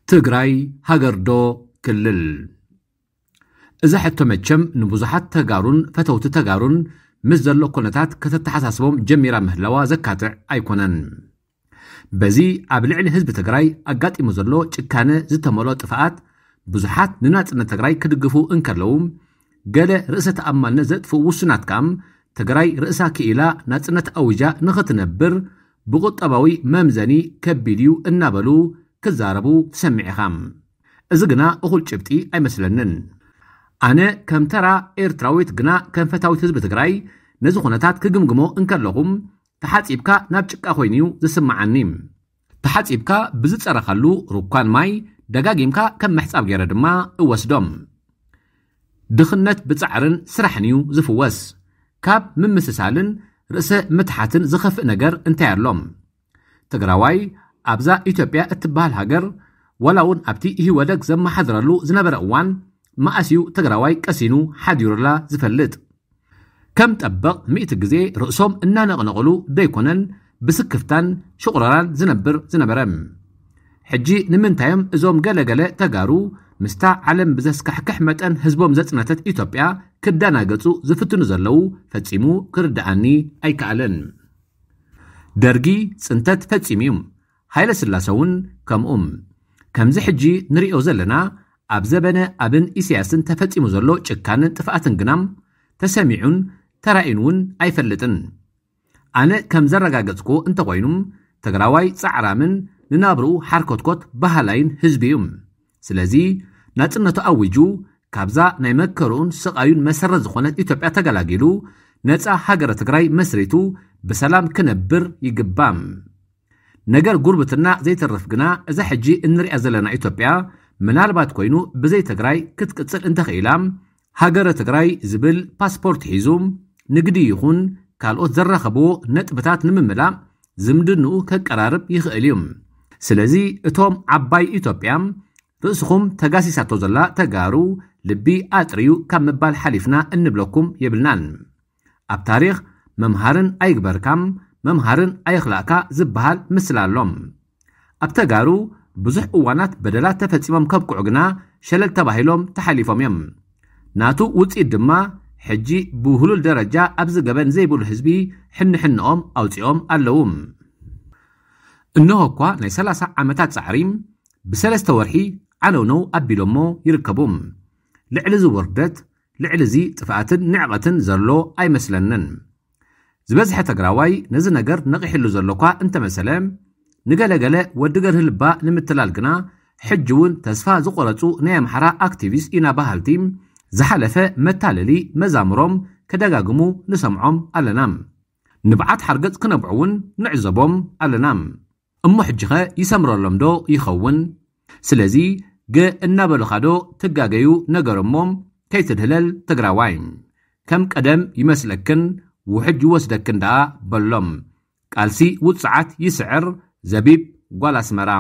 ትግራይ ሃገር ዶ ክልል? እዛ ሕቶ መቸም ንብዙሓት ተጋሩን ፈተውቲ ተጋሩን ምስ ዘሎ ኩነታት ከተተሓሳስቦም ጀሚራ ምህላዋ ዘካትዕ ኣይኮነን። በዚ ኣብ ልዕሊ ህዝቢ ትግራይ ኣጋጢሙ ዘሎ ጭካነ ዝተመልኦ ጥፍኣት ብዙሓት ንናጽነት ትግራይ ክድግፉ እንከለዉ፣ ገለ ርእሰ ተኣማንነት ዘጥፍኡ ውሱናት ከኣ ትግራይ ርእሳ ክኢላ ናጽነት ኣዊጃ ንኽትነብር ብቁጠባዊ መምዘኒ ከቢድ እዩ እናበሉ ክዛረቡ ትሰምዕ ኢኻ። እዚ ግና እኹል ጭብጢ ኣይመስለንን። ኣነ ከም ተራ ኤርትራዊት ግና ከም ፈታዊት ህዝቢ ትግራይ ነዚ ኩነታት ክግምግሞ እንከለኹ፣ ተሓጺብካ ናብ ጭቃ ኮይኑ እዩ ዝስምዓኒ። ተሓጺብካ ብዝጸረኻሉ ሩኳን ማይ ደጋጊምካ ከም ምሕጻብ ገይረ ድማ እወስዶም። ድኽነት ብጻዕርን ስራሕን እዩ ዝፍወስ። ካብ ምምስሳልን ርእሰ ምትሓትን ዝኸፍእ ነገር እንታይ ኣሎ? ትግራዋይ ኣብዛ ኢትዮጵያ እትበሃል ሃገር፣ ዋላ እውን ኣብቲ ኢህወደግ ዘመሓድረሉ ዝነበረ እዋን፣ መኣስ እዩ ትግራዋይ ቀሲኑ ሓዲሩላ ዝፈልጥ? ከም ጠበቕ ሚእቲ ግዜ ርእሶም እናነቕነቕሉ ደይኮነን ብስክፍታን ሽቑረራን ዝነብር ዝነበረ? ሕጂ ንምንታዮም እዞም ገለገለ ተጋሩ ምስታ ዓለም ብዘስካሕክሕ መጠን ህዝቦም ዘጽነተት ኢትዮጵያ ክደናገጹ ዝፍትኑ ዘለዉ ፈጺሙ ክርድኣኒ ኣይከኣለን። ደርጊ ጽንተት ፈጺሙ እዩ። ሃይለ ስላሰ እውን ከምኡ። ከምዚ ሕጂ ንሪኦ ዘለና ኣብ ዘበነ ኣብን ኢሳያስን ተፈጺሙ ዘሎ ጭካንን ጥፍኣትን ግና ተሰሚዑን ተራእዩን እውን ኣይፈልጥን። ኣነ ከም ዘረጋገጽኩ እንተኾይኑ፣ ትግራዋይ ጻዕራምን ንናብርኡ ሓርኮትኮት በሃላይን ህዝቢ እዩ። ስለዚ ናጽነቱ ኣዊጁ ካብዛ ናይ መከርኡን ስቓዩን መሰረት ዝኾነት ኢትዮጵያ ተገላጊሉ ነጻ ሃገረ ትግራይ መስሪቱ ብሰላም ክነብር ይግባእ። ነገር ጉርብትና ዘይተርፍ ግና እዛ ሕጂ እንሪኣ ዘለና ኢትዮጵያ ምናልባት ኮይኑ ብዘይ ትግራይ ክትቅጽል እንተኽኢላ፣ ሃገረ ትግራይ ዝብል ፓስፖርት ሒዙ ንግዲ ይኹን ካልኦት ዘራኸብዎ ነጥብታት ንምምላእ ዝምድንኡ ከቀራርብ ይኽእል እዩ። ስለዚ እቶም ዓባይ ኢትዮጵያ ርእስኹም ተጋሲሳቶ ዘላ ተጋሩ ልቢ ኣጥርዩ ካብ ምባል ሓሊፍና እንብለኩም የብልናን። ኣብ ታሪኽ መምሃርን ኣይግበርካም መምሃርን ኣየኽላእካ ዝበሃል ምስላ ኣሎ። ኣብ ተጋሩ ብዙሕ እዋናት በደላት ተፈጺሞም ከብቅዑ ግና ሸለል ተባሂሎም ተሓሊፎም እዮም። ናቱ ውጽኢት ድማ ሕጂ ብውህሉል ደረጃ ኣብዚ ገበን ዘይብሉ ህዝቢ ሕንሕንኦም ኣውጺኦም ኣለዉ። እንሆ እኳ ናይ ሰላሳ ዓመታት ጻዕሪ ብሰለስተ ወርሒ ዓነውነው ኣቢሎሞ ይርከቡ። ልዕሊ እዚ ውርደት፣ ልዕሊ እዚ ጥፍኣትን ንዕቐትን ዘሎ ኣይመስለንን። ዝበዝሐ ትግራዋይ ነዚ ነገር ነቒሕሉ ዘሎ እኳ እንተመሰለ፣ ንገለገለ ወዲ ገርህ ልባ ንምትላል ግና ሕጂ እውን ተስፋ ዝቆረጹ ናይ ኣምሓራ ኣክቲቪስት ኢና በሃልቲ ዝሓለፈ መታለሊ መዛምሮም ከደጋግሙ ንሰምዖም ኣለና። ንብዓት ሓርገጽ ክነብዑ እውን ንዕዘቦም ኣለና። እሞ ሕጂኸ ይሰምረሎም ዶ ይኸውን? ስለዚ ገ እናበሉኻ ዶ ትጋገዩ ነገር እሞ ከይትድህለል ትግራዋይ። ከም ቀደም ይመስለክን ውሕጅ ይወስደክን ደኣ በሎም። ቃልሲ ውጽዓት ይስዕር። ዘቢብ ጓል ኣስመራ።